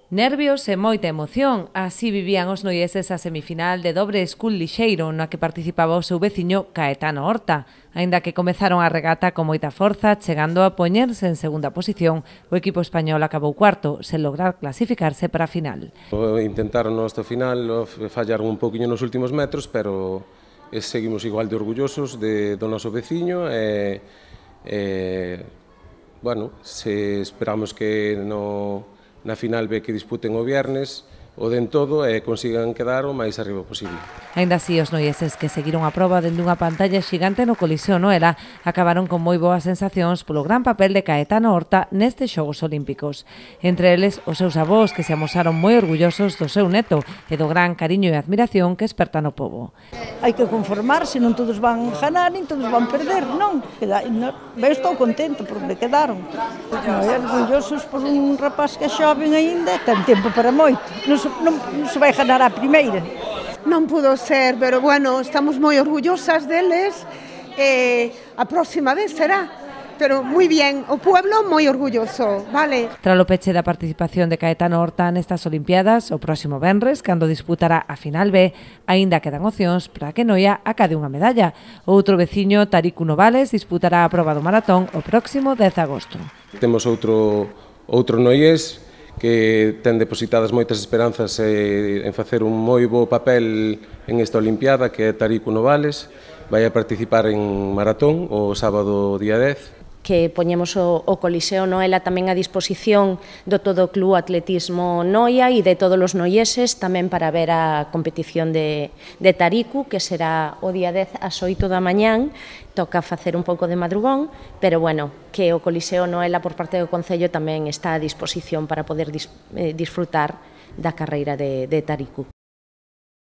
Nervios e moita emoción, así vivían os noieses a semifinal de dobre school lixeiro na que participaba o seu veciño Caetano Horta. Aínda que comezaron a regata con moita forza, chegando a poñerse en segunda posición, o equipo español acabou cuarto, sen lograr clasificarse para a final. Intentaron hasta o final, fallaron un poquinho nos últimos metros, pero seguimos igual de orgullosos do noso veciño e bueno, esperamos que na final ve que disputen o viernes o den todo e consigan quedar o máis arriba posible. Aínda así, os noieses que seguiron a proba dende unha pantalla xigante no Coliseo Noela acabaron con moi boas sensacións polo gran papel de Caetano Horta nestes Xogos Olímpicos. Entre eles, os seus avós que se amosaron moi orgullosos do seu neto e do gran cariño e admiración que esperta no pobo. Hai que conformarse, non todos van ganar, nin todos van perder, non? Eu estou contento porque quedaron. Orgullosos por un rapaz que é xoven aínda, ten tempo para moito. Non se vai ganar a primeira. Non pudo ser, pero bueno, estamos moi orgullosas deles e a próxima vez será. Pero moi bien, o pueblo moi orgulloso, vale? Tras o peche da participación de Caetano Horta nestas Olimpiadas, o próximo venres, cando disputará a final B, aínda quedan opcións para que Noia acade unha medalla. O outro veciño, Tariku Novales, disputará a proba do maratón o próximo 10 de agosto. Temos outro noiés que ten depositadas moitas esperanzas en facer un moi bo papel en esta Olimpiada, que é Tariku Novales. Vai a participar en maratón o sábado día 10. Que poñemos o Coliseo Noela tamén a disposición do todo o Club Atletismo Noia e de todos os noieses tamén para ver a competición de Tariku, que será o día 10 ás 8 da mañán. Toca facer un pouco de madrugón, pero bueno, que o Coliseo Noela por parte do Concello tamén está a disposición para poder disfrutar da carreira de Tariku.